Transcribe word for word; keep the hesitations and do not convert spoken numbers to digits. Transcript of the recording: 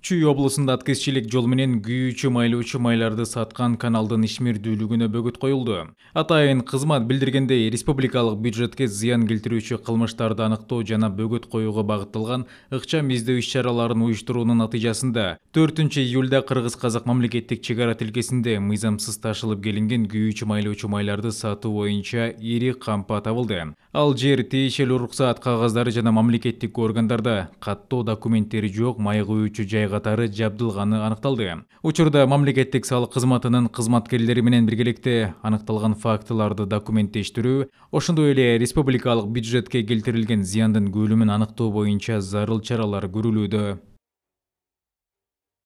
Чүй облусунда аткезчилик жол менен күйүүчү майлоочу майларды саткан каналдын ишмердүүлүгүнө бөгөт коюлду. Атайын кызмат билдиргендей, республикалык бюджетке зыян келтирүүчү кылмыштарды аныктоо жана бөгөт коюуга багытталган ыкчам издөө иш-чараларын уюштуруунун натыйжасында төртүнчү июлда Кыргыз-Казак мамлекеттик чек ара тилкесинде мыйзамсыз ташылып келинген күйүүчү майлоочу майларды сатуу боюнча ири кампа табылды. Ал жер, тиешелүү уруксаат кагаздары жана мамлекеттик органдарда каттоо документтери жок май күйүүчү жай катары жабдылганы аныкталды. Учурда мамлекеттик салык кызматынын кызматкерлери менен биргеликте аныкталган фактыларды документтештирүү, ошондой эле республикалык бюджетке келтирилген зыяндын көлөмүн аныктоо боюнча зарыл чаралар көрүлүүдө.